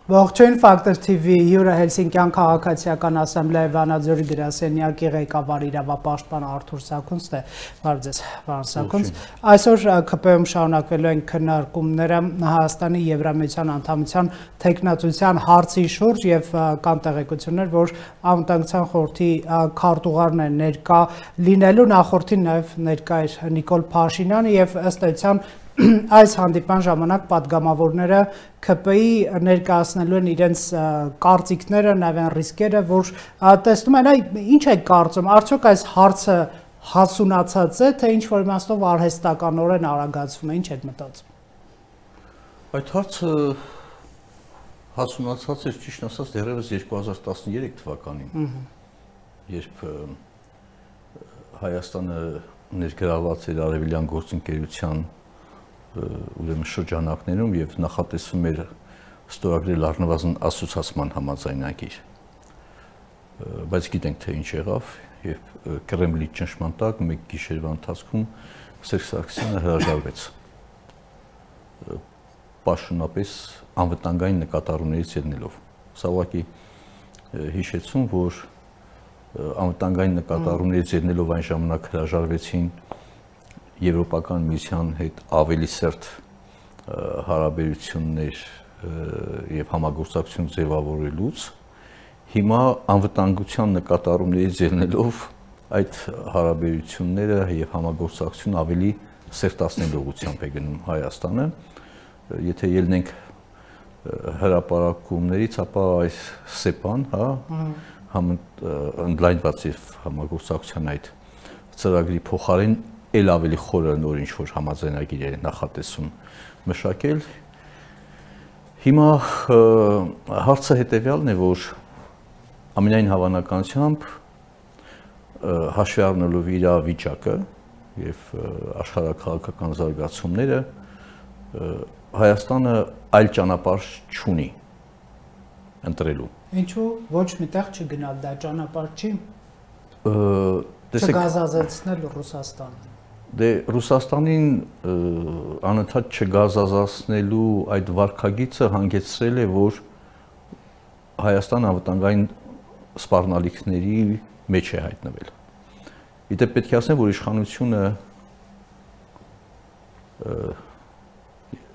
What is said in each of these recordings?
Ողջույն Factor TV հյուրը Հելսինկյան քաղաքացիական ասամբլեայի Վանաձորի գրասենյակի ղեկավար իրավապաշտպան Արթուր Սաքունցն է։ Բարև ձեզ, պարոն Սաքունց։ Այսօր ԿՊ-ում շարունակվելու են քննարկումները Հայաստանի Եվրամիության անդամության թեկնածության հարցի շուրջ եւ կան տեղեկություններ, որ անվտանգության խորհրդի քարտուղարն է ներկա լինելու, նախորդին նաեւ ներկա էր Նիկոլ Փաշինյանը եւ ըստ էության այս հանդիպան ժամանակ պատգամավորները ԿՊ-ի ներկայացնելու են իրենց կարծիքները, նաև այն ռիսկերը, որ տեսնում են, ինչ է կարծում, արդյոք այս հարցը հասունացած է, թե ինչ-որ իմաստով արհեստականորեն արագացվում է, ինչ եք մտածում։ Այդ հարցը հասունացած էր, ճիշտ ասած, դեռևս 2013 թվականին, երբ Հայաստանը ներգրավված էր Արևելյան գործընկերության ուրեմն շրջանակներում եւ նախատեսվում էր ստորագրել առնվազն ասոցիացիան համաձայնագիր, բայց գիտենք թե ինչ եղավ եւ Կրեմլի ճնշման տակ մեկ գիշերվա ընթացքում Սերժ Սարգսյանը հրաժարվեց պաշտոնապես անվտանգային նկատառումներից ելնելով։ Սա ուղղակի հիշեցում, որ անվտանգային նկատառումներից ելնելով այն ժամանակ հրաժարվեցին Եվրոպական միության հետ ավելի սերտ հարաբերություններ եւ համագործակցություն ձևավորելուց հիմա անվտանգության նկատառումներից ելնելով այդ հարաբերությունները եւ համագործակցություն ավելի սերտացնելու ուղղությամբ է գնում Հայաստանը։ Եթե ելնենք հրապարակումներից, ապա այս ՍԵՊԱ-ն, ընդլայնված եւ համագործակցության այդ ծրագրի փոխարեն էլ ավելի խորը նոր ինչ-որ համաձայնագիր է նախատեսում մշակել։ Հիմա հարցը հետևյալն է, որ ամենայն հավանականությամբ հաշվի առնելով իրավիճակը եւ աշխարհաքաղաքական զարգացումները Հայաստանը այլ ճանապարհ չունի ընտրելու։ Ինչու ոչ միտեղ չգնալ, դա ճանապարհ չի։ Չգազազեցնել Ռուսաստանը։ Դե Ռուսաստանին անընդհատ չգազազացնելու այդ վարքագիծը հանգեցրել է, որ Հայաստանը անվտանգային սպառնալիքների մեջ է հայտնվել։ Իդեպ պետք է ասեմ, որ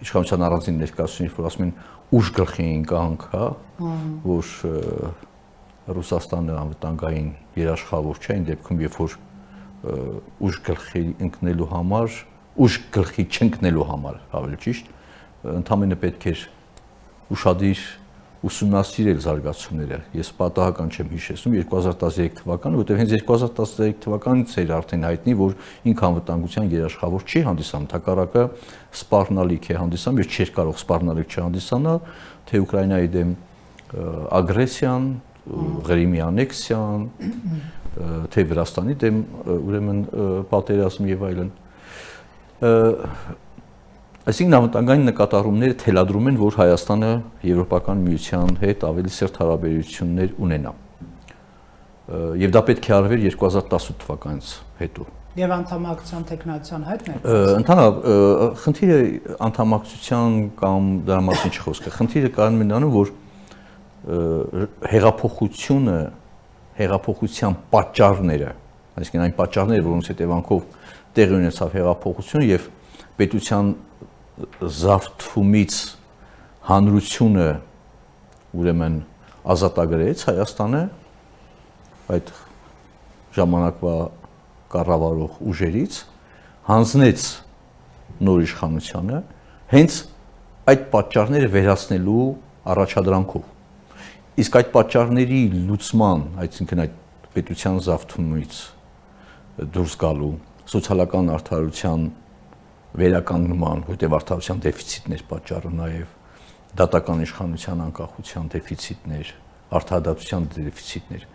իշխանության առանձին ներկայացուցիչ, որ ասում են ուժ գլխի ընկանք, որ Ռուսաստանը անվտանգային երաշխավոր չէ, այն դեպքում, երբ որ ուժ գլխի ընկնելու համար, ուժ գլխի չընկնելու համար, ավելի ճիշտ, ընդամենը պետք էր ուշադիր ուսումնասիրել զարգացումները։ Ես պատահական չեմ հիշեցնում 2013 թվականը, որտեղ հենց 2013 թվականից էր արդեն հայտնի, որ ինքանվտանգության երաշխավոր չի հանդիսանում, հակառակը սպառնալիք է հանդիսանում, եւ չէր կարող սպառնալիք չհանդիսանալ, թե Ուկրաինայի դեմ ագրեսիան, Ղրիմի անեքսիան, թե Վրաստանի դեմ ուրեմն պատերազմ եւ այլն։ Այսինքն անվտանգային նկատառումները թելադրում են, որ Հայաստանը Եվրոպական միության հետ ավելի սերտ հարաբերություններ ունենա։ Եվ դա պետք է արվեր 2018 թվականից հետո։ Եվ անդամակցության տեխնացիան հետ է։ Ընդհանրապես խնդիրը անդամակցության կամ դրա մասին չխոսքը։ Խնդիրը կայանում է նրանում, որ հեղափոխության պատճառները, այսինքն այն պատճառները, որոնց հետևանքով տեղի ունեցավ հեղափոխությունը եւ պետության զավթումից հանրությունը ուրեմն ազատագրեց Հայաստանը այդ ժամանակվա կառավարող ուժերից, հանձնեց նոր իշխանությանը հենց այդ պատճառները վերացնելու առաջադրանքով։ Իսկ այդ պատճառների լուծման, այսինքն այդ պետության զավթումից դուրս գալու, սոցիալական արդարության վերականգնման, որտեղ արդարության դեֆիցիտներ պատճառը նաև դատական իշխանության անկախության դեֆիցիտներ, արդարադատության դեֆիցիտներ։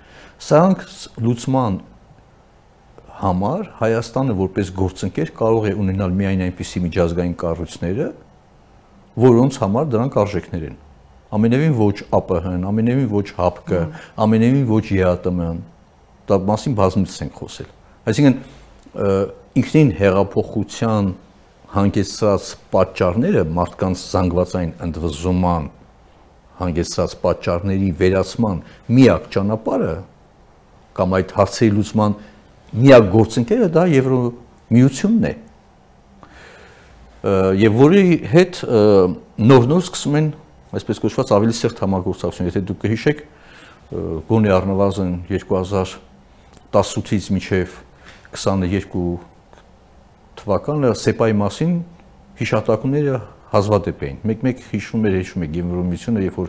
Սրանք լուծման համար Հայաստանը որպես գործընկեր կարող է ունենալ միայն այնպիսի միջազգային կառույցները, որոնց համար դրանք արժեքներ են։ ամենևին ոչ ԱՊՀ-ն, ամենևին ոչ ՀԱՊԿ, ամենևին ոչ ԵԱՏՄ-ն, դա մասին բազմիցս ենք խոսել։ Այսինքն ինքնին հեղափոխության հանգեցրած պատճառները մարդկանց զանգվածային ընդվզման հանգեցրած պատճառների վերացման միակ ճանապարհը կամ այդ հարցերի լուծման միակ գործընկերը դա Եվրոմիությունն է։ Եվ որի հետ նոր-նոր սկսում են այսպես կոչված ավելի սերտ համագործակցություն, եթե դուք կհիշեք, գոնե առնվազն 2018-ից մինչև 22 թվականը ՍԵՊԱ-ի մասին հիշատակումները հազվադեպ էին։ Մեկ-մեկ հիշում եք Եվրոմիությունը, երբ որ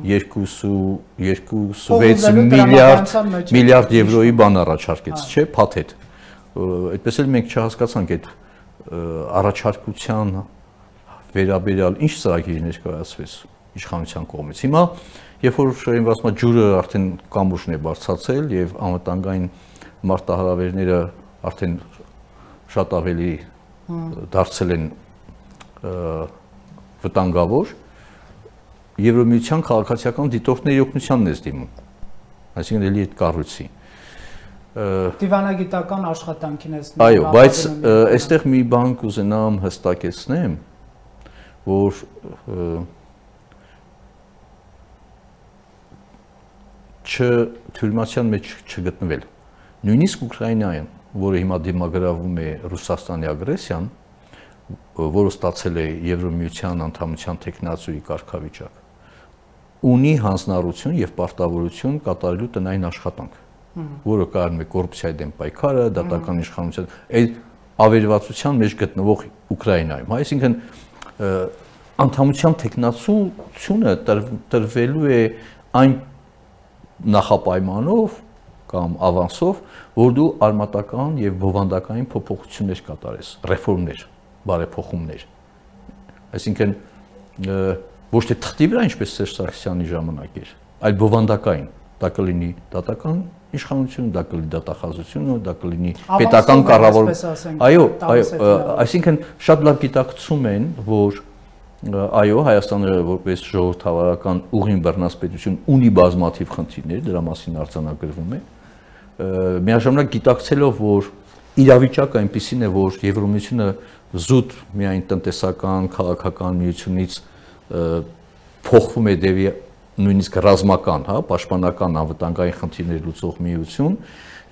2.6 միլիարդ եվրոյի բան առաջարկեց, չէ՞, փաթեթ։ Այդպես էլ մենք չհասկացանք այդ առաջարկության վերաբերյալ ինչ ծրագիր ներկայացվեց իշխանության կողմից։ Հիմա, երբ որ ասում ջուրը արդեն կամուրջն է բարձրացել եւ անվտանգային մարտահրավերները արդեն շատ ավելի դարձել են վտանգավոր, Եվրոմիության քաղաքացիական դիտորդների օգնությանն է դիմում, այսինքն էլի այդ կառույցի։ Դիվանագիտական աշխատանքին ես։ Այո, բայց այստեղ մի բան կուզենամ հստակեցնեմ, որ թյուրիմացիան մեջ չգտնվել։ Նույնիսկ Ուկրաինայում, որը հիմա դիմագրավում է Ռուսաստանի ագրեսիան, որը ստացել է Եվրոմիության անդամության տեխնացուի կարգավիճակ, ունի հանձնառություն եւ պարտավորություն կատարելու տնային աշխատանք, որը կայանում է կոռուպցիայի դեմ պայքարը, դատական իշխանության, այդ ավերվածության մեջ գտնվող Ուկրաինայում, այսինքն անդամության տեխնացությունը տրվելու է այն նախապայմանով կամ ավանսով, որ դու արմատական եւ բովանդակային փոփոխություններ կատարես, ռեֆորմներ, բարեփոխումներ։ Այսինքն ոչ թե թղթի վրա ինչպես Սերժ Սարգսյանի ժամանակ էր, այլ բովանդակային, դա կլինի դատական իշխանություն, դա կլինի դատախազությունը, դա կլինի պետական կառավարություն։ Այո, այսինքն շատ լավ գիտակցում են, որ այո, Հայաստանը որպես ժողովրդավարական ուղին բռնած պետություն ունի բազմաթիվ խնդիրներ, դրա մասին արձանագրվում է։ Միաժամանակ գիտակցելով, որ իրավիճակը այնպիսին է, որ Եվրոմիությունը զուտ միայն տնտեսական, քաղաքական միությունից փոխվում է դեպի նույնիսկ ռազմական, պաշտպանական անվտանգային խնդիրներ լուծող միություն,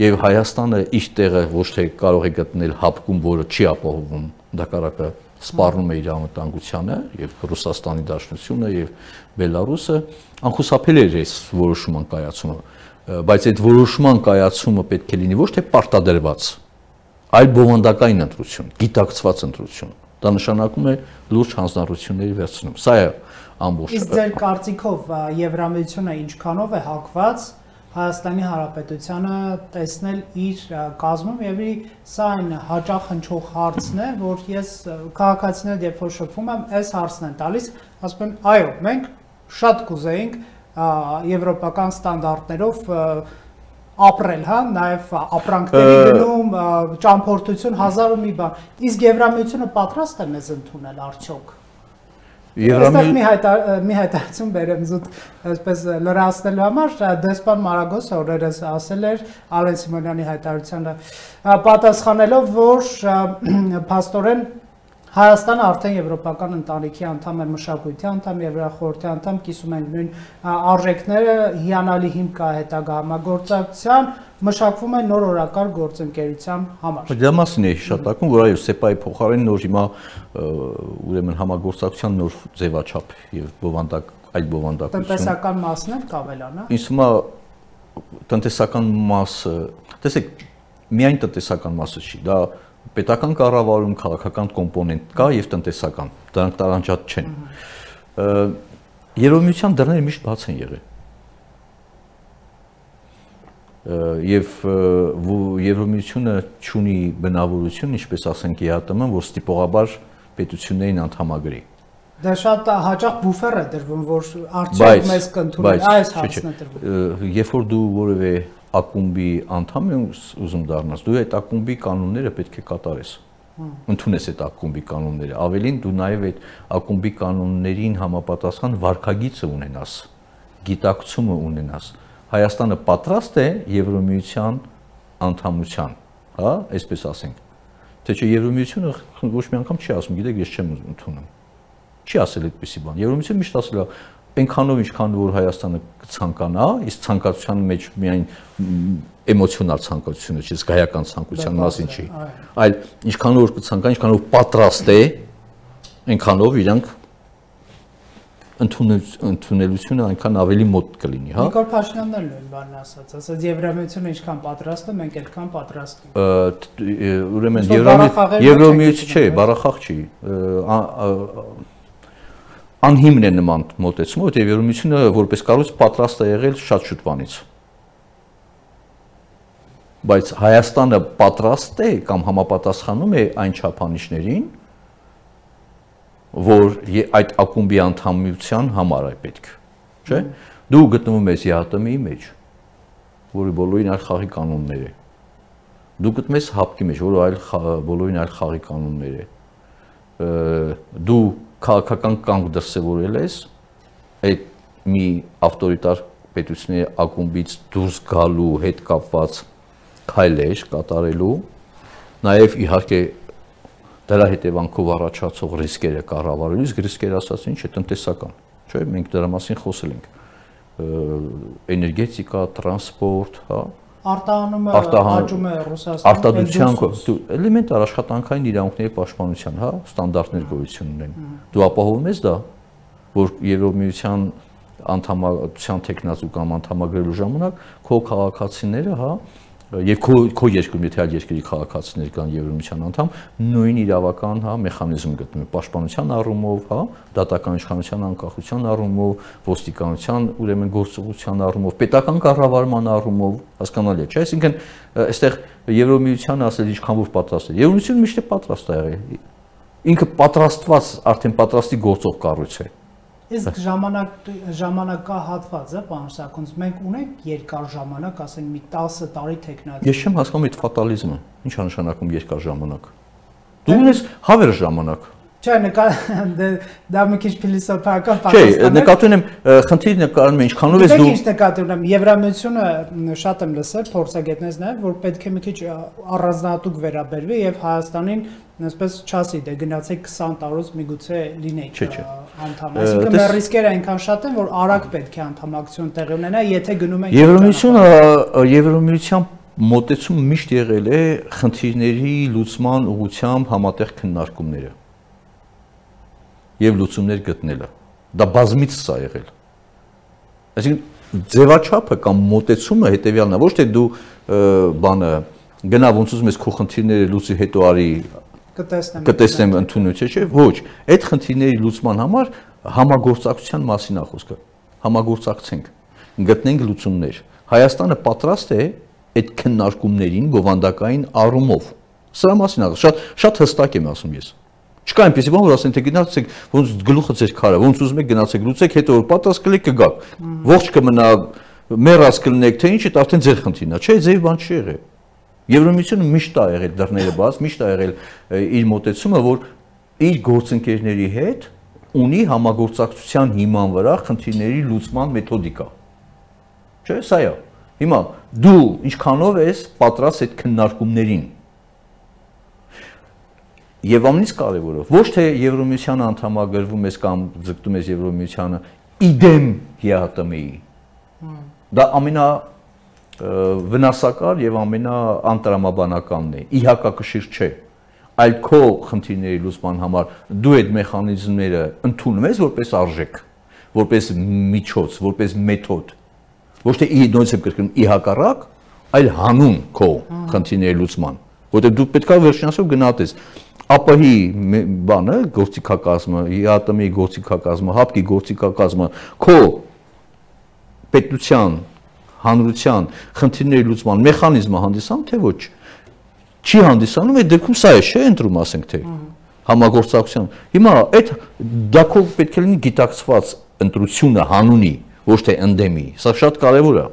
եւ Հայաստանը իր տեղը ոչ թե կարող է գտնել ՀԱՊԿ-ում, որը չի ապահովում, հակառակը սպառնում է իր անվտանգությանը, եւ Ռուսաստանի Դաշնությունը եւ Բելարուսը անխուսափել է այս որոշման կայացումը, բայց այդ որոշման կայացումը պետք է լինի ոչ թե պարտադրված, այլ բովանդակային ընտրություն, գիտակցված ընտրություն։ Դա նշանակում է լուրջ հանձնառությունների վերցնում։ Սա է ամբողջ։ Իսկ ձեր կարծիքով Եվրամիությունը ինչքանով է հակված Հայաստանի Հանրապետությանը տեսնել իր կազմում եւ սա այն հաճախ հնչող հարցն է, որ ես քաղաքացիներ երբ որ շփվում եմ, այս հարցն են տալիս, ասում են, այո, մենք շատ կուզեինք եվրոպական ստանդարտներով ապրել, նաև ապրանքների գնում, ճամփորդություն, հազար ու մի բան։ Իսկ Եվրամիությունը պատրաստ է մեզ ընդունել արդյոք։ Այստեղ մի հայտարարություն բերեմ զուտ այսպես լրացնելու համար, դեսպան Մարագոսը օրերս ասել էր Ալեն Սիմոնյանի հայտարարությանը պատասխանելով, որ փաստորեն Հայաստանը արդեն եվրոպական ընտանիքի անդամ է, մշակույթի անդամ, Եվրախորհրդի անդամ, կիսում են նույն արժեքները, հիանալի հիմք կա հետագա համագործակցության, մշակվում է նոր օրակարգ գործընկերության համար։ Դրա մասին է հիշատակում, որ այո, ՍԵՊԱ-ի փոխարեն նոր հիմա ուրեմն համագործակցության նոր ձևաչափ եւ այլ բովանդակություն։ Տնտեսական մասն էլ կավելանա։ Ինձ թվում է տնտեսական մասը, տեսեք, միայն տնտեսական մասը չի, դա պետական կառավարում, քաղաքական կոմպոնենտ կա եւ տնտեսական, դրանք տարանջատ չեն։ Եվրոմիության դռները միշտ բաց են եղել։ Եվ Եվրոմիությունը ունի բնավորություն, ինչպես ասենք ԵԱՏՄ-ն, որ ստիպողաբար պետություններին անդամագրի։ Դա շատ հաճախ բուֆեր է դրվում, որ արդյոք մեզ կընդունեն, այս հարցն է դրվում։ Երբ որ դու որևէ ակումբի անդամ ես ուզում դառնաս, դու այդ ակումբի կանոնները պետք է կատարես։ Ընդունես այդ ակումբի կանոնները, ավելին դու նաև այդ ակումբի կանոններին համապատասխան վարքագիծը ունենաս, գիտակցումը ունենաս։ Հայաստանը պատրաստ է Եվրոմիության անդամության, հա, այսպես ասենք։ Թե չէ Եվրոմիությունը ոչ մի անգամ չի ասում, գիտեք, ես չեմ ընդունում։ Չի ասել այդպիսի բան։ Եվրոմիությունը միշտ ասել է այնքանով ինչքան որ Հայաստանը կցանկանա, իսկ ցանկացության մեջ միայն էմոցիոնալ ցանկությունը չի, զգայական ցանկության մասին չի, այլ ինչքանով որ կցանկանա, ինչքանով պատրաստ է, այնքանով իրանք ընդունելությունը այնքան ավելի մոտ կլինի, հա։ Նիկոլ Փաշինյանն էլ նույն բանն ասաց, ասաց Եվրոմիությունը ինչքան պատրաստ է, մենք այդքան պատրաստ ենք։ Ուրեմն Եվրոմիություն չէ, բառախաղ չի։ Անհիմն է նման մոտեցումը, որտեղ Եվրոմիությունը որպես կառույց պատրաստ է եղել շատ շուտ բանից։ Բայց Հայաստանը պատրաստ է կամ համապատասխանում է այն չափանիշներին, որ այդ ակումբի անդամության համար է պետք, չէ՞։ Դու գտնվում ես ԵԱՏՄ-ի մեջ, որի բոլորին այլ խաղի կանոններ է։ Դու գտնվում ես ՀԱՊԿ-ի մեջ, որը բոլորին այլ խաղի կանոններ է։ Դու քաղաքական կանգ դրսևորել ես այդ մի ավտորիտար պետությունների ակումբից դուրս գալու հետ կապված քայլեր կատարելու, նաև իհարկե դրա հետևանքով առաջացող ռիսկերը կառավարելու, իսկ ռիսկերը ասած ինչ է, տնտեսական, չէ՞, մենք դրա մասին խոսել ենք, էներգետիկա, տրանսպորտ, հա, արտահանումը աճում է Ռուսաստանում, արտադրության էլեմենտար աշխատանքային իրավունքների պաշտպանության, հա, ստանդարտներ գոյություն ունեն։ Դու ապահովում ես դա, որ Եվրոմիության անդամության տեխնացու կամ անդամագրելու ժամանակ քո քաղաքացիները, հա, եւ քո երկրում եթե այլ երկրի քաղաքացիներ կան Եվրոմիության անդամ, նույն իրավական, հա, մեխանիզմ գտնվում է պաշտպանության առումով, հա, դատական իշխանության անկախության առումով, ոստիկանության ուրեմն գործողության առումով, պետական կառավարման առումով, հասկանալի է, չէ՞, այսինքն այստեղ Եվրոմիությանը ասել ինչքան որ պատրաստ է։ Եվրոմիությունը միշտ է պատրաստ է եղել։ Ինքը պատրաստված, արդեն պատրաստի գործող կառույց է։ Իսկ ժամանակահատված է, պարոն Սարգսյան, մենք ունենք երկար ժամանակ, ասենք մի 10 տարի տեխնացի։ Ես չեմ հասկանում այդ ֆատալիզմը, ինչ է նշանակում երկար ժամանակ։ Դու ունես հավերժ ժամանակ։ Չէ, դա մի քիչ փիլիսոփայական պատասխան է։ Չէ, նկատում եմ, խնդիրը նկարում է ինչքանով ես դու։ Ինչ նկատում եմ, Եվրամիությունը շատ եմ լսել, փորձագետներից նաև, որ պետք է մի քիչ առանձնահատուկ վերաբերվի եւ Հայաստանին այսպես չասի, դե գնացեք 20 տարուց միգուցե լինեք անդամ։ Այսինքն մեր ռիսկերը այնքան շատ են, որ արագ պետք է անդամակցություն տեղի ունենա, եթե գնում ենք։ Եվրոմիության մոտեցումը միշտ եղել է խնդիրների լուծման ուղղությամբ համատեղ քննարկումները եւ լուծումներ գտնելը։ Դա բազմից է եղել։ Այսինքն ձևաչափը կամ մոտեցումը հետեւյալն է, ոչ թե դու բանը գնա ոնց ուզում ես քո խնդիրները լուծի հետո արի կտեսնեմ ընդունություն, չէ՞, ոչ, այդ խնդիրների լուծման համար համագործակցության մասին է խոսքը։ Համագործակցենք, գտնենք լուծումներ։ Հայաստանը պատրաստ է այդ քննարկումներին բովանդակային առումով։ Սրա մասին է, շատ հստակ եմ ասում ես։ Չկա այնպեսի բան, որ ասեն թե գնացեք, ոնց գլուխը ձեր քարը, ոնց ուզում եք գնացեք, լուծեք, հետո որ պատրաստ կլեք կգաք։ Ողջ կմնա, մեռած կլինեք, թե ինչ է, արդեն ձեր խնդիրն է, չէ, ձեր բան չի եղել։ Եվրոմիությունը միշտ է եղել դռները բաց, միշտ է եղել իր մոտեցումը, որ իր գործընկերների հետ ունի համագործակցության հիման վրա խնդիրների լուծման մեթոդիկա։ Չէ, սա է։ Հիմա դու ինչքանով ես պատրաստ այդ քննարկումներին։ Եվ ամենից կարևորը, ոչ թե Եվրոմիությանը անդամագրվում ես կամ ձգտում ես Եվրոմիությանը իդեմ ԵԱՏՄ-ի։ Դա ամենավնասակար եւ ամենաանտրամաբանականն է, իհակակշիռ չէ, այլ քո խնդիրների լուծման համար դու այդ մեխանիզմները ընդունում ես որպես արժեք, որպես միջոց, որպես մեթոդ, ոչ թե նույնիսկ կրկնում իհակառակ, այլ հանուն քո խնդիրների լուծման, որտեղ դու պետք է վերջնասով գնահատես ԱՊՀ-ի բանը, գործիքակազմը, ԵԱՏՄ-ի գործիքակազմը, ՀԱՊԿ-ի գործիքակազմը, քո պետության, հանրության խնդիրների լուծման մեխանիզմը հանդիսանում թե ոչ, չի հանդիսանում, այդ դեպքում սա է, չէ, ընտրում ասենք թե համագործակցության։ Հիմա այդ դա քո պետք է լինի գիտակցված ընտրությունը հանունի, ոչ թե ընդդեմի, սա շատ կարևոր է։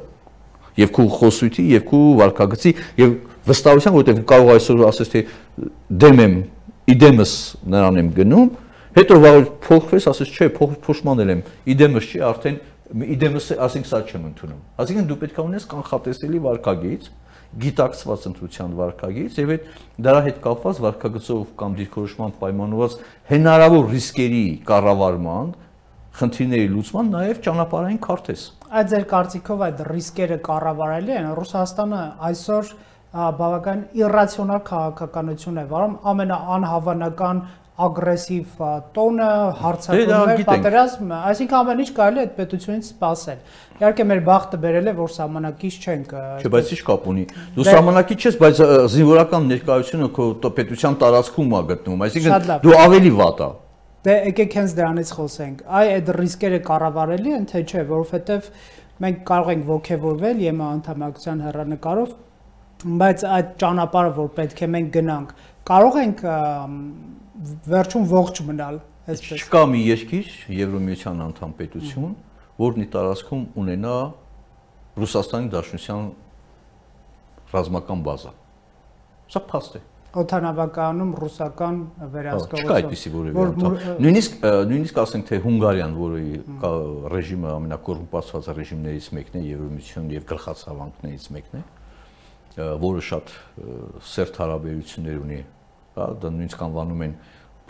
Եվ քո խոսույթի, եւ քո վարքագծի, եւ վստահության, որովհետեւ կարող այսօր ասես թե դեմ եմ, իդեմս նրան եմ գնում, հետո վաղ փոխվես, ասես չէ, փոշմանել եմ, իդեմս չի, արդեն իդեմս ասենք սա չեմ ընդունում։ Այսինքն դու պետք է ունես կանխատեսելի վարքագիծ, գիտակցված ընտրության վարքագիծ եւ այդ դրա հետ կապված վարքագծով կամ դիրքորոշման պայմանավորված հնարավոր ռիսկերի կառավարման, խնդիրների լուծման նաեւ ճանապարհային քարտեզ։ Այդ ձեր կարծիքով այդ ռիսկերը կառավարելի են։ Ռուսաստանը այսօր բավական իրացիոնալ քաղաքականություն է վարում, ամենաանհավանական ագրեսիվ տոնը, հարձակումներ, պատերազմ, այսինքն ամեն ինչ կարելի է այդ պետությունից սպասել։ Իհարկե մեր բախտը բերել է, որ սահմանակից չենք։ Չէ, բայց ի՞նչ կապ ունի։ Դու սահմանակից չես, բայց զինվորական ներկայությունը քո պետության տարածքում է գտնվում, այսինքն դու ավելի վատ ես։ Դե եկեք հենց դրանից խոսենք։ Այդ ռիսկերը կառավարելի են, թե չէ, որովհետև մենք կարող ենք ոգևորվել ԵՄ անդամակցության հեռանկարով, բայց այդ ճանապարհը, որ պետք է մենք գնանք, կարող ենք վերջում ողջ մնալ, այսպես։ Չկա մի երկիր, Եվրոմիության անդամ պետություն, որն ի տարածքում ունենա Ռուսաստանի Դաշնության ռազմական բազա։ Սա փաստ է։ Օդանավականում ռուսական վերահսկողություն։ Չկա այդպիսի որևէ անդամ։ Նույնիսկ ասենք թե Հունգարիան, որի ռեժիմը ամենակոռումպացված ռեժիմներից մեկն է, Եվրոմիության եւ գլխացավանքներից մեկն է, որը շատ սերտ հարաբերություններ ունի, հա, դա նույնիսկ անվանում են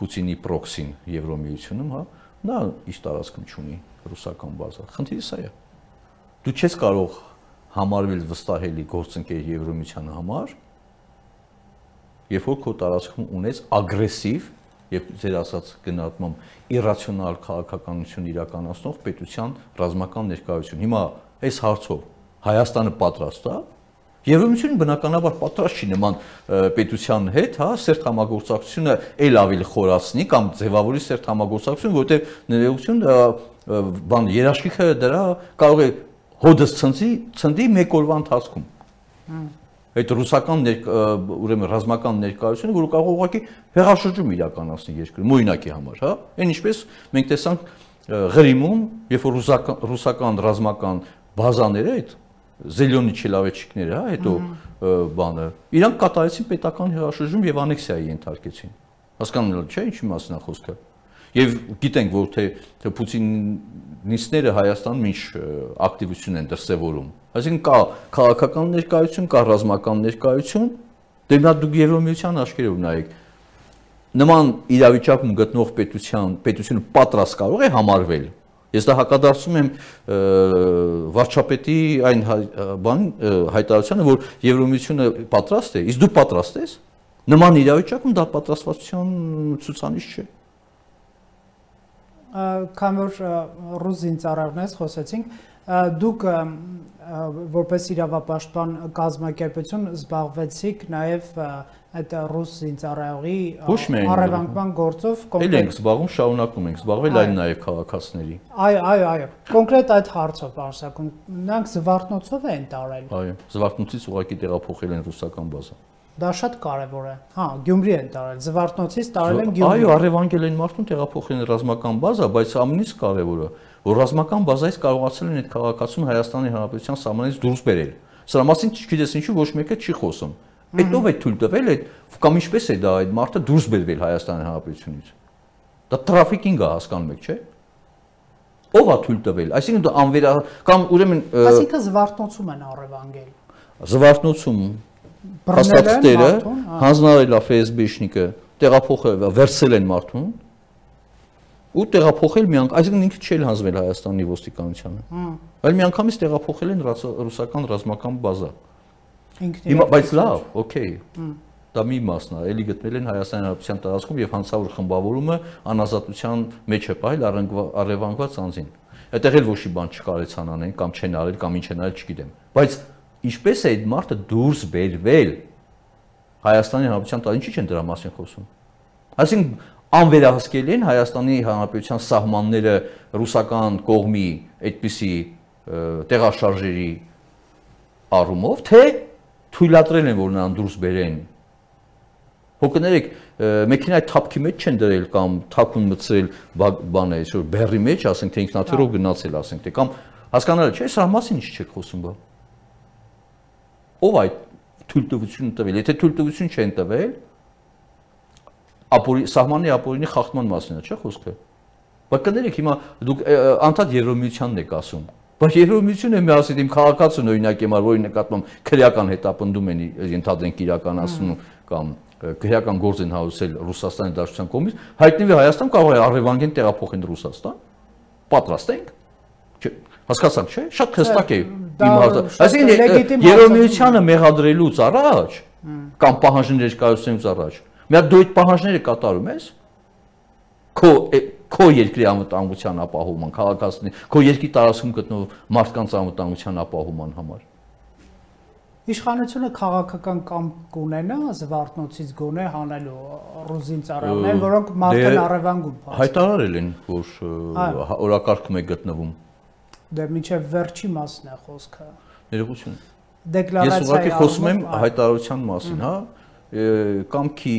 Պուտինի պրոքսին Եվրոմիությունում, հա, նա իր տարածքում չունի ռուսական բազա։ Խնդիրը սա է։ Դու չես կարող համարվել վստահելի գործընկեր Եվրոմիության համար, երբ որ քո տարածքում ունես ագրեսիվ եւ ձեր ասած գնահատմամբ իրացիոնալ քաղաքականություն իրականացնող պետության ռազմական ներկայություն։ Հիմա այս հարցով Հայաստանը պատրաստ է, Եվրոմիությունը բնականաբար պատրաստ չի նման պետության հետ, հա, սերտ համագործակցությունը ել ավելի խորացնի կամ ձևավորի սերտ համագործակցություն, որտեղ ներողություն բան երաշխիքը դրա կարող է հոդս ցնդի մեկ օրվա ընթացքում։ Այդ ռուսական ուրեմն ռազմական ներկայությունը, որը կարող ուղղակի հեղաշրջում իրականացնի երկրում, օրինակի համար, հա։ Այն ինչպես մենք տեսանք Ղրիմում, երբ որ ռուսական ռազմական բազաները այդ Զելյոնի չելավեչիկները, հա, հետո բանը, իրանք կատարեցին պետական հեղաշրջում եւ անեքսիայի ենթարկեցին։ Հասկանալի չէ՞ ինչի մասն է խոսքը։ Եվ գիտենք, որ թե պուտինիստները Հայաստանում ինչ ակտիվություն են դրսևորում։ Այսինքն կա քաղաքական ներկայություն, կա ռազմական ներկայություն, դե նա դուք Եվրոմիության աչքերով նայեք։ Նման իրավիճակում գտնող պետությունը պատրաստ կարող է համարվել։ Ես դա հակադարձում եմ վարչապետի այն հայտարարությանը, որ Եվրոմիությունը պատրաստ է, իսկ դու պատրաստ ես։ Նման իրավիճակում դա պատրաստվածության ցուցանիշ չէ։ Քան որ ռուս զինծառայողներից խոսեցինք, դուք որպես իրավապաշտպան կազմակերպություն զբաղվեցիք նաև այդ ռուս զինծառայողի առևանգման գործով կոնկրետ ենք զբաղվում, շարունակում ենք զբաղվել այլ նաև քաղաքացիների։ Այո, կոնկրետ այդ հարցով արշակում նրանք զվարթնոցով են տարել։ Այո, զվարթնոցից ուղղակի տեղափոխել են ռուսական բազա։ Դա շատ կարևոր է։ Հա, Գյումրի են տարել, զվարթնոցից տարել են Գյումրի։ Այո, առևանգել են մարդուն, տեղափոխել են ռազմական բազա, բայց ամենից կարևորը, որ ռազմական բազայից կարողացել են այդ քաղաքացուն Հայաստանի Հանրապետության սահմանից դուրս բերել։ Սրա մասին չգիտես ինչու ոչ մեկը չի խոսում։ Այդ ով է թույլ տվել այդ կամ ինչպես է դա այդ մարդը դուրս բերվել Հայաստանի Հանրապետությունից։ Դա տրաֆիկինգ է, հասկանում եք, չէ՞։ Ով է թույլ տվել։ Այսինքն դա անվերա կամ ուրեմն Այսինքն զվարթնոցում են առևանգել։ Զվարթնոցում հաստատները հանձնարարել է ՖՍԲ-շնիկը, տեղափոխել, վերցել են մարդուն ու տեղափոխել մի անգամ, այսինքն ինքը չէ հանձնել Հայաստանի ոստիկանությանը։ Այլ մի անգամից տեղափոխել են ռուսական ռազմական բազա։ Հիմա բայց լավ, օքեյ։ Դա մի մասն է, էլի գտնել են Հայաստանի Հանրապետության տարածքում եւ հանցավոր խմբավորումը անազատության մեջ է պահել առևանգված անձին։ Այդտեղ էլ ոչի բան չկարեցան անեն կամ չեն արել կամ ինչ են արել, չգիտեմ։ Բայց ինչպես է այդ մարդը դուրս բերվել Հայաստանի Հանրապետության տարածքից, ինչի՞ չեն դրա մասին խոսում։ Այսինքն անվերահսկելի են Հայաստանի Հանրապետության սահմանները ռուսական կողմի այդպիսի տեղաշարժերի առումով, թե թույլատրել են, որ նրան դուրս բերեն։ Հոգներեք, մեքենայի թափքի մեջ չեն դրել կամ թափուն մտցրել բան է, այսօր բեռի մեջ, ասենք թե ինքնաթիռով գնացել, ասենք թե կամ հասկանալի չէ, սրա մասին ինչ չեք խոսում բա։ ով այդ թույլտվությունը տվել, եթե թույլտվություն չեն տվել, սահմանի ապօրինի խախտման մասին է, չէ՞ խոսքը։ Բայց կներեք հիմա դուք անդադ Եվրոմիությանն եք ասում, բայց Եվրոմիությունը մի ասել իմ քաղաքացուն օրինակ եմ, որի նկատմամբ քրեական հետապնդում են ենթադրենք իրականացնում կամ քրեական գործ են հարուցել Ռուսաստանի Դաշնության կողմից, հայտնվի Հայաստան կարող է առևանգեն տեղափոխեն Ռուսաստան, պատրաստ ենք։ Հասկացաք, չէ՞։ Շատ հստակ է իմ հարցը։ Այսինքն Եվրոմիությանը մեղադրելուց առաջ կամ պահանջներ կայացնելուց առաջ, մի հատ դու այդ պահանջները կատարում ես քո երկրի անվտանգության ապահովման, քաղաքացիների, քո երկրի տարածքում գտնվող մարդկանց անվտանգության ապահովման համար։ Իշխանությունը քաղաքական կամք կունենա Զվարթնոցից գոնե հանելու ռուզին ծառայողներ, որոնք մարդն առևանգում։ Հայտարարել են, որ օրակարգում է գտնվում։ Դե մինչև վերջի մասն է խոսքը։ Ներողություն։ Դեկլարացիա։ Ես ուղղակի խոսում եմ հայտարարության մասին, հա, կամքի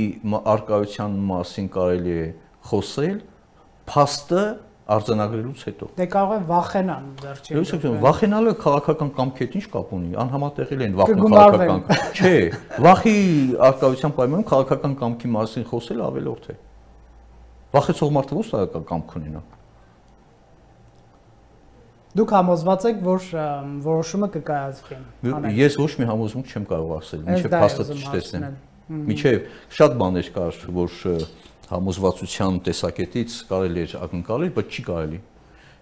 արկայության մասին կարելի է խոսել, փաստը արձանագրելուց հետո։ Դե կարող է վախենան վերջին։ Վախենալը քաղաքական կամքի հետ ինչ կապ ունի, անհամատեղել են վախն քաղաքական։ Չէ, վախի արկայության պայմանում քաղաքական կամքի մասին խոսելը ավելորդ է։ Վախեցող մարդը ո՞ւս կամք ունենա։ Դուք համոզված եք, որ որոշումը կկայացվի։ Ես ոչ մի համոզմունք չեմ կարող ասել, մինչև փաստը չտեսնեմ։ Մինչև շատ բաներ կար, որ համոզվածության տեսակետից կարելի էր ակնկալել, բայց չի կարելի։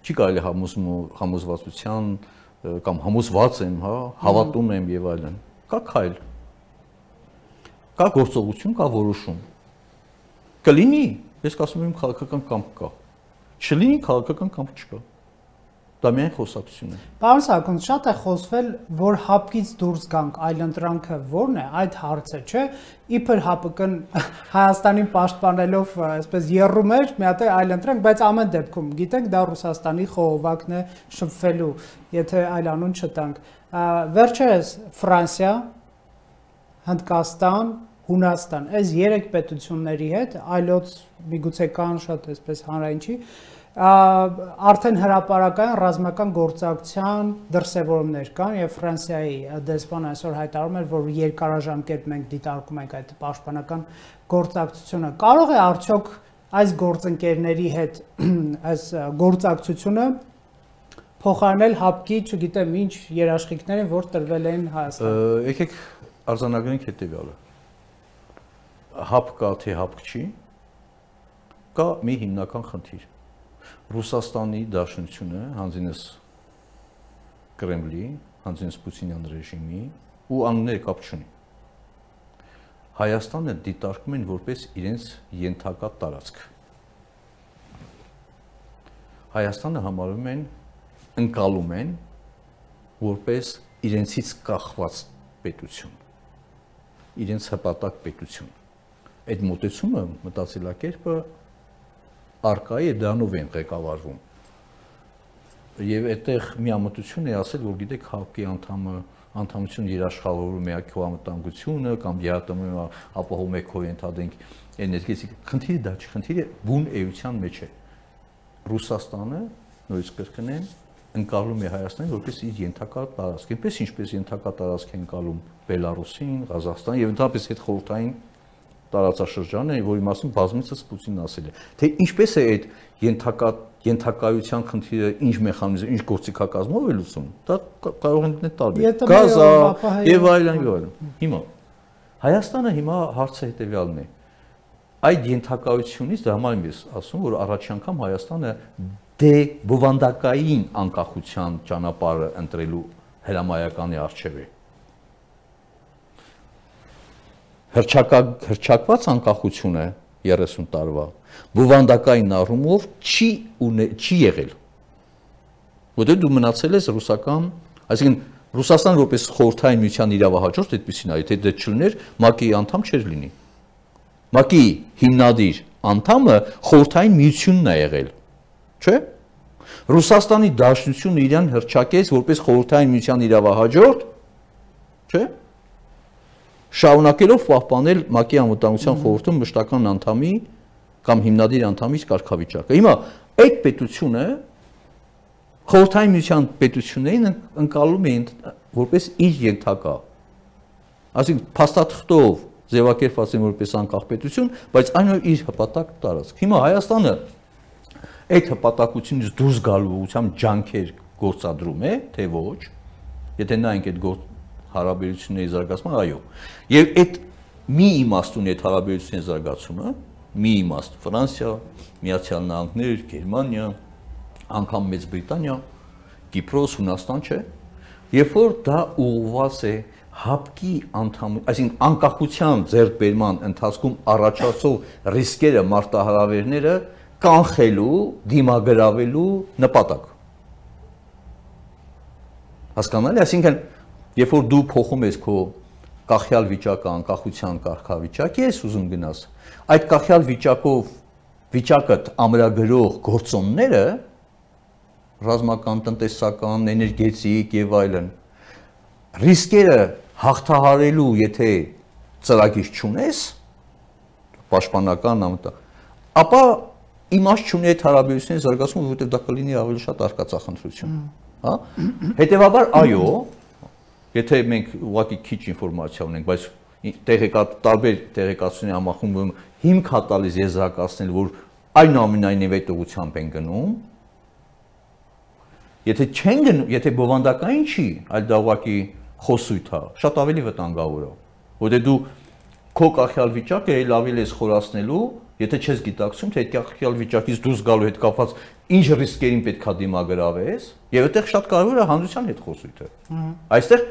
Չի կարելի համոզվածության կամ համոզված եմ, հա, հավատում եմ եւ այլն։ Կա քայլ։ Կա գործողություն, կա որոշում։ Կլինի, ես կասում եմ քաղաքական կամք կա։ Չլինի քաղաքական կամք չկա։ Դա միայն խոսակցություն է։ Պարոն Սարգսյան, շատ է խոսվել, որ հապկից դուրս գանք, այլընտրանքը ո՞րն է, այդ հարցը, չէ՞։ Իբր ՀԱՊԿ-ն Հայաստանին պաշտպանելով, այսպես եռում էր, մի հատ այլընտրանք, բայց ամեն դեպքում, գիտենք, դա Ռուսաստանի խողովակն է շփվելու, եթե այլ անուն չտանք։ Վերջերս Ֆրանսիա, Հնդկաստան, Հունաստան, այս 3 պետությունների հետ, այլոց միգուցե կան շատ այսպես հանրային չի, արդեն հրապարակային ռազմական գործակցության դրսևորումներ կան եւ Ֆրանսիայի դեսպանը այսօր հայտարարում էր, որ երկարաժամկետ մենք դիտարկում ենք այդ պաշտպանական գործակցությունը։ Կարող է արդյոք այս գործընկերների հետ այս գործակցությունը փոխարինել ՀԱՊԿ-ի, չգիտեմ ինչ երաշխիքներին, որ տրվել են Հայաստան։ Եկեք արձանագրենք հետեւյալը։ ՀԱՊԿ կա թե ՀԱՊԿ չի, կա մի հիմնական խնդիր։ Ռուսաստանի Դաշնությունը, հանձինս Կրեմլի, հանձինս Պուտինյան ռեժիմի ու անունները կապ չունի։ Հայաստանը դիտարկում են որպես իրենց ենթակա տարածք։ Հայաստանը համարում են, ընկալում են որպես իրենցից կախված պետություն, իրենց հպատակ պետություն։ Այդ մոտեցումը, մտածելակերպը արկայի է դրանով են ղեկավարվում։ Եվ այդտեղ միամտություն է ասել, որ գիտեք ՀԱՊԿ-ի անդամություն երաշխավորում է քո անվտանգությունը կամ ԵԱՏՄ-ը ապահովում է քո ենթադրենք էներգետիկ։ Խնդիրը դա չի, խնդիրը բուն էության մեջ է։ Ռուսաստանը, նույնիսկ կրկնեմ, ընկալում է Հայաստանին որպես իր ենթակա տարածք։ Այնպես ինչպես ենթակա տարածք են ընկալում Բելարուսին, Ղազախստանը եւ ընդհանրապես այդ խորհրդային տարածաշրջանը, որի մասին բազմիցս Պուտինն ասել է, թե ինչպես է այդ ենթակայության խնդիրը, ինչ մեխանիզմ, ինչ գործիքակազմով է լուծում, դա կարող են դնել տարբեր։ Գազա եւ այլն եւ այլն։ Հիմա Հայաստանը հիմա հարցը հետեւյալն է։ Այդ ենթակայությունից դա համար եմ ես ասում, որ առաջ անգամ Հայաստանը բովանդակային անկախության ճանապարհը ընտրելու հրամայականի առջև է։ Հրճակված անկախությունը 30 տարվա բովանդակային առումով չի եղել։ Որտեղ դու մնացել ես ռուսական, այսինքն Ռուսաստան որպես խորհրդային միության իրավահաջորդ այդպեսին այ թե դա չլիներ, ՄԱԿ-ի անդամ չէր լինի։ ՄԱԿ-ի հիմնադիր անդամը խորհրդային միությունն է եղել, չէ՞։ Ռուսաստանի Դաշնությունը իրան հրճակեց որպես խորհրդային միության իրավահաջորդ, չէ՞։ Շարունակելով պահպանել ՄԱԿ-ի անվտանգության խորհրդում մշտական անդամի կամ հիմնադիր անդամի կարգավիճակը։ Հիմա այդ պետությունը խորհրդային միության պետություններին ընկալում էին որպես իր ենթակա։ Այսինքն փաստաթղթով ձևակերպված են որպես անկախ պետություն, բայց այն իր հպատակ տարածք։ Հիմա Հայաստանը այդ հպատակությունից դուրս գալու ուղղությամբ ջանքեր գործադրում է, թե ոչ, եթե նայենք այդ հարաբերությունների զարգացման, այո։ Եվ այդ մի իմաստուն այդ հարաբերությունների զարգացումը, մի իմաստ Ֆրանսիա, Միացյալ Նահանգներ, Գերմանիա, անգամ Մեծ Բրիտանիա, Կիպրոս, Հունաստան չէ, երբ որ դա ուղղված է հապկի այսինքն անկախության ձեռքբերման ընթացքում առաջացող ռիսկերը, մարտահրավերները կանխելու, դիմագրավելու նպատակ։ Հասկանալի, այսինքն, երբ որ դու փոխում ես քո կախյալ վիճակը անկախության կարգավիճակի ես ուզում գնաս, այդ կախյալ վիճակը ամրագրող գործոնները, ռազմական, տնտեսական, էներգետիկ եւ այլն, ռիսկերը հաղթահարելու, եթե ծրագիր չունես, պաշտպանական ապա իմաստ չունի այդ հարաբերությունների զարգացումը, որովհետև դա կլինի ավելի շատ արկածախնդրություն, հա? Հետևաբար, այո, եթե մենք ուղղակի քիչ ինֆորմացիա ունենք, բայց տարբեր տեղեկատվությունների համախմբում հիմք հա տալիս եզրակացնել, որ այնուամենայնիվ այդ ուղղությամբ են գնում, եթե չեն գնում, եթե բովանդակային չի, այլ դա ուղղակի խոսույթ է, շատ ավելի վտանգավոր է, որտեղ դու քո կախյալ վիճակը էլ ավելի ես խորացնելու, եթե չես գիտակցում, թե այդ կախյալ վիճակից դուրս գալու հետ կապված ինչ ռիսկերին պետք է դիմագրավես, եւ այդտեղ շատ կարևոր է հանրության հետ խոսույթը։ Այստեղ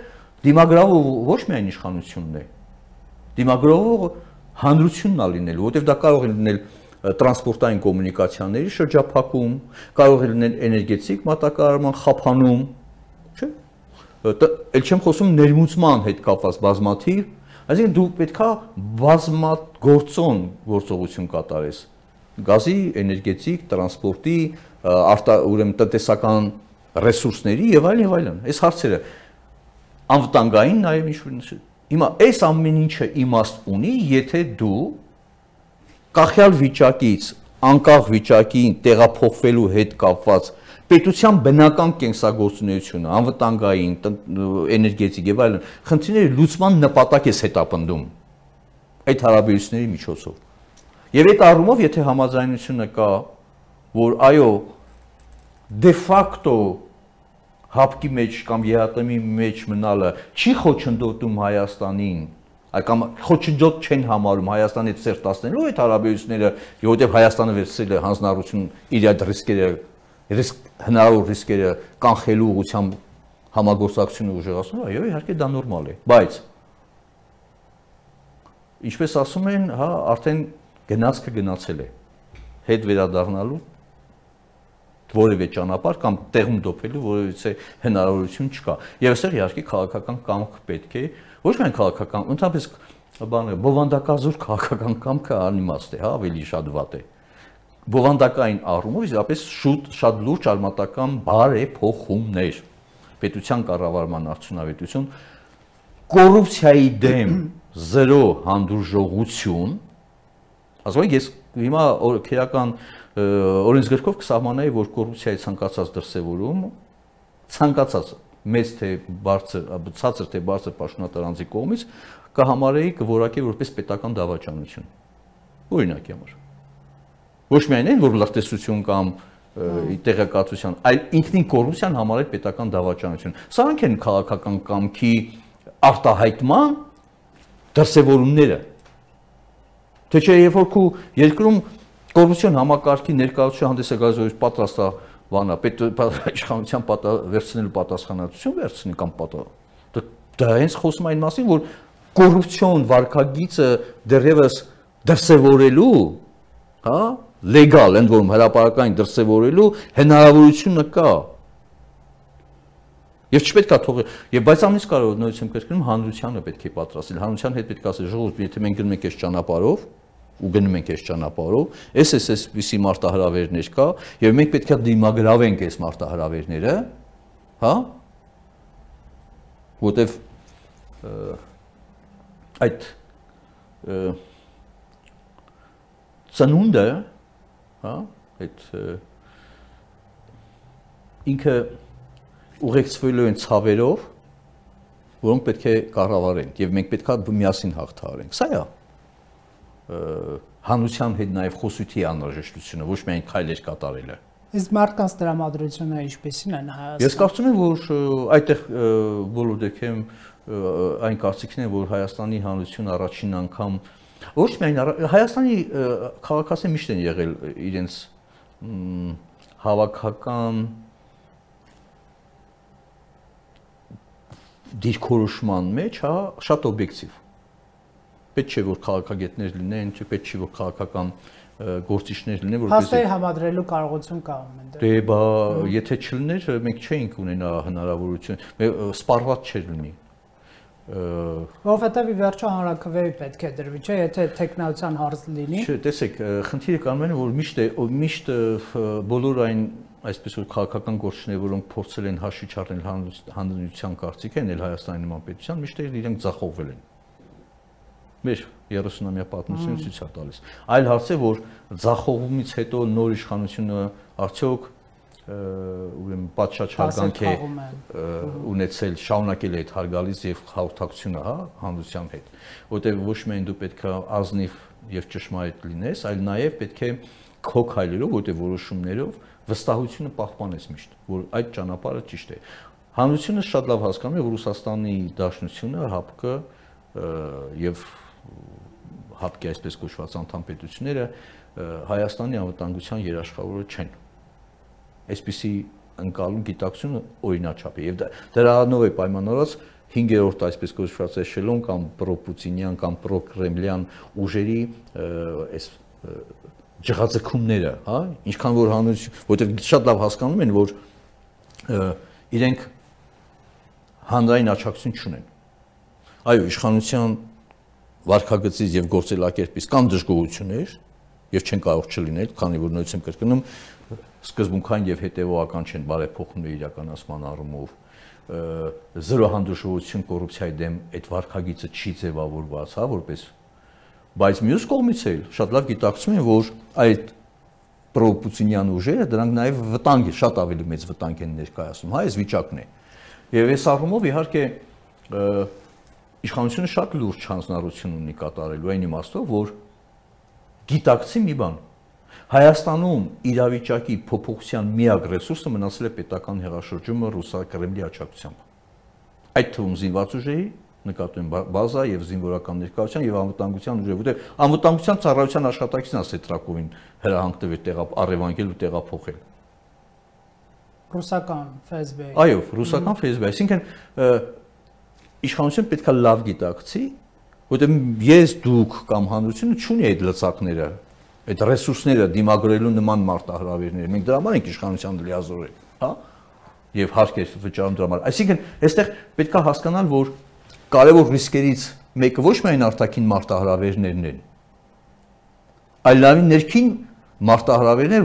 դիմագրավը ոչ միայն իշխանությունն է, դիմագրավը հանրությունն է լինելու, որովհետև դա կարող է լինել տրանսպորտային կոմունիկացիաների շրջափակում, կարող է լինել էներգետիկ մատակարարման խափանում, չէ՞։ Էլ չեմ խոսում ներմուծման հետ կապված բազմաթիվ, այսինքն դու պետք է բազմագործոն գործողություն կատարես գազի, էներգետիկ, տրանսպորտի, ուրեմն տնտեսական ռեսուրսների եւ այլն, այս հարցերը անվտանգային նաեւ ինչ-որ հիմա այս ամեն ինչը իմաստ ունի, եթե դու կախյալ վիճակից անկախ վիճակին տեղափոխվելու հետ կապված պետության բնական կենսագործունեությունը, անվտանգային, էներգետիկ եւ այլն, խնդիրների լուծման նպատակ է հետապնդում այդ հարաբերությունների միջոցով։ Եվ այդ առումով, եթե համաձայնությունը կա, որ այո, դե ֆակտո հապկի մեջ կամ ԵԱՏՄ-ի մեջ մնալը չի խոչընդոտում Հայաստանին, կամ խոչընդոտ չեն համարում Հայաստանի հետ սերտացնելու այդ հարաբերությունները, որովհետև Հայաստանը վերցրել է հանձնառություն իր այդ հնարավոր ռիսկերը կանխելու ուղղությամբ համագործակցությունը ուժեղացնում, այո, իհարկե դա նորմալ է, բայց ինչպես ասում են, հա, արդեն գնացքը գնացել է, հետ վերադառնալու որևէ ճանապարհ կամ տեղում դոփելու որևէ հնարավորություն չկա։ Եվ այստեղ իհարկե քաղաքական կամք պետք է, ոչ միայն քաղաքական, ընդհանրապես բովանդակազոր քաղաքական կամքը անիմաստ է, հա, ավելի շատ վատ է։ Բովանդակային առումով իսկապես շատ լուրջ արմատական բարեփոխումներ, պետության կառավարման արդյունավետություն, կոռուպցիայի դեմ զրո հանդուրժողություն, ասում եմ, ես հիմա քերական օրենսգրքով կսահմանայի, որ կոռուպցիայի ցանկացած դրսևորում, ցանկացած մեծ թե բարձր, ցածր թե բարձր պաշտոնատար անձի կողմից կհամարեի կորակի որպես պետական դավաճանություն։ Օրինակի համար։ Ոչ միայն այն, որ լրտեսություն կամ տեղեկատվության, այլ ինքնին կոռուպցիան համարել պետական դավաճանություն։ Սրանք են քաղաքական կամքի արտահայտման դրսևորումները։ Թե չէ, երբ որ քու երկրում կոռուպցիոն համակարգի ներկայացուցիչ հանդես է գալիս, որ պատրաստ է բանա, իշխանության վերցնելու պատասխանատվություն վերցնի կամ դա հենց խոսում այն մասին, որ կոռուպցիոն վարքագիծը դեռևս դրսևորելու, հա, լեգալ, ընդ որում հրապարակային դրսևորելու հնարավորությունը կա։ Եվ չպետք է թողել, եւ բայց ամենից կարևորը նույնիսկ եմ կրկնում, հանրությանը պետք է պատրաստել, հանրության հետ պետք է ասել, ժողովուրդ, եթե մենք գնում ենք այս ճանապարհով, ու գնում ենք այս ճանապարհով, այսպիսի մարտահրավերներ կա, եւ մենք պետք է դիմագրավենք այս մարտահրավերները, հա, որտեվ այդ ծնունդը, հա, այդ ինքը ուղեկցվելու են ցավերով, որոնք պետք է կառավարեն եւ մենք պետք է միասին հաղթահարենք։ Սա է հանրության հետ նաեւ խոսույթի անհրաժեշտությունը, ոչ միայն քայլեր կատարելը։ Իսկ մարդկանց տրամադրությունը ինչպեսին են Հայաստանում։ Ես կարծում եմ, որ այդտեղ բոլոր դեպքերում այն կարծիքն է, որ Հայաստանի հանրությունը առաջին անգամ ոչ միայն Հայաստանի քաղաքացիները միշտ են եղել իրենց հավաքական դիրքորոշման մեջ, հա, շատ օբյեկտիվ։ Պետք չէ որ քաղաքագետներ լինեն, պետք չէ որ քաղաքական գործիչներ լինեն, որպես Հաստատի համադրելու կարողություն կա այնտեղ։ Դե բա եթե չլիներ, մենք չէինք ունենա հնարավորություն, սպառված չէր լինի։ Որովհետև ի վերջո հանրաքվեի պետք է դրվի, չէ, եթե տեխնոլոգիական հարց լինի։ Չէ, տեսեք, խնդիրը կանում է, որ միշտ բոլոր այն այսպես որ քաղաքական գործիչներ, որոնք փորձել են հաշվի չառնել հանրության կարծիքը, էլ Հայաստանի նման պետության, միշտ իրենք ձախողվել են։ Մեր 30-ամյա պատմությունը ցույց է տալիս։ Այլ հարց է, որ ձախողումից հետո նոր իշխանությունը արդյոք ուրեմն պատշաճ հարգանք է ունեցել, շարունակել է այդ հարգալից եւ հաղորդակցությունը, հա, հանրության հետ, որտեղ ոչ միայն դու պետք է ազնիվ եւ ճշմարիտ լինես, այլ նաեւ պետք է քո քայլերով, որտեղ որոշումներով վստահությունը պահպանես միշտ, որ այդ ճանապարհը ճիշտ է։ Հանրությունը շատ լավ հասկանում է, որ Ռուսաստանի Դաշնությունը, ՀԱՊԿ եւ ՀԱՊԿ-ի այսպես կոչված անդամ պետությունները Հայաստանի անվտանգության երաշխավորը չեն։ Այսպիսի ընկալում գիտակցությունը օրինաչափ է եւ դրանով է պայմանավորված 5-րդ այսպես կոչված էշելոն կամ պրոպուտինյան կամ պրոկրեմլյան ուժերի այս ջղաձգումները, հա, ինչքան որ հանրություն, որտեղ շատ լավ հասկանում են, որ իրենք հանրային աջակցություն չունեն։ Այո, իշխանության վարքագծից եւ գործելակերպից կան դժգոհություններ եւ չեն կարող չլինել, քանի որ նույնիսկ կրկնում սկզբունքային եւ հետեւողական չեն բարեփոխումների իրականացման առումով, զրո հանդուրժողություն կոռուպցիայի դեմ այդ վարքագիծը չի ձևավորված, հա, որպես բայց մյուս կողմից էլ շատ լավ գիտակցում են, որ այդ պրոպուտինյան ուժերը դրանք նաեւ վտանգ է, շատ ավելի մեծ վտանգ են ներկայացնում, հա, այս վիճակն է։ Եվ այս առումով իհարկե իշխանությունը շատ լուրջ հանձնառություն ունի կատարելու այն իմաստով, որ գիտակցի մի բան։ Հայաստանում իրավիճակի փոփոխության միակ ռեսուրսը մնացել է պետական հեղաշրջումը Ռուսա-Կրեմլի աջակցությամբ։ Այդ թվում զինված ուժերի նկատում բազա եւ զինվորական ներկայության եւ անվտանգության ուժերի, որտեղ անվտանգության ծառայության աշխատակիցն է Սետրակովին հրահանգ տվել առևանգել ու տեղափոխել։ Ռուսական ՖՍԲ-ի։ Այո, ռուսական ՖՍԲ-ի, այսինքն իշխանությունը պետք է լավ գիտակցի, որտեղ ես դուք կամ հանրությունը չունի այդ լծակները, այդ ռեսուրսները դիմագրելու նման մարտահրավերներ։ Մենք դրա համար ենք իշխանության լիազորել, հա? Եվ հարկեր վճարում դրա համար։ Այսինքն, այստեղ պետք է հասկանալ, որ կարևոր ռիսկերից մեկը ոչ միայն արտաքին մարտահրավերներն են, այլ նաև ներքին մարտահրավերներ,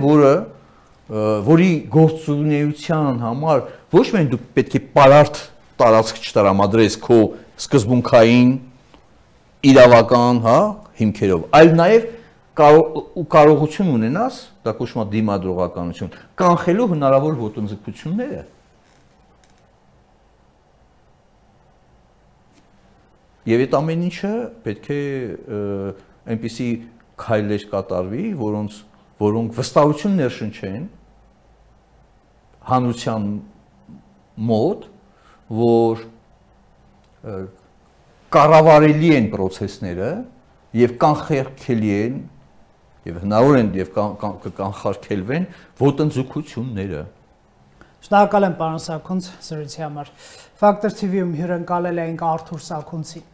որի գործունեության համար ոչ միայն դու պետք է պարարտ տարածք չտրամադրես քո սկզբունքային իրավական, հա, հիմքերով, այլ նաև կարողություն ունենաս, դա կոչվում է դիմադրողականություն, կանխելու հնարավոր ոտնձգությունները։ Եվ այդ ամեն ինչը պետք է այնպիսի քայլեր կատարվի, որոնք վստահություն ներշնչեն հանրության մոտ, որ կառավարելի են process-ները եւ կանխարգելի են եւ հնարավոր են եւ կանխարգելվեն ոտնձգությունները։ Շնորհակալ եմ պարոն Սաքունց զրույցի համար։ Factor TV-ում հյուրընկալել էինք Արթուր Սաքունցին։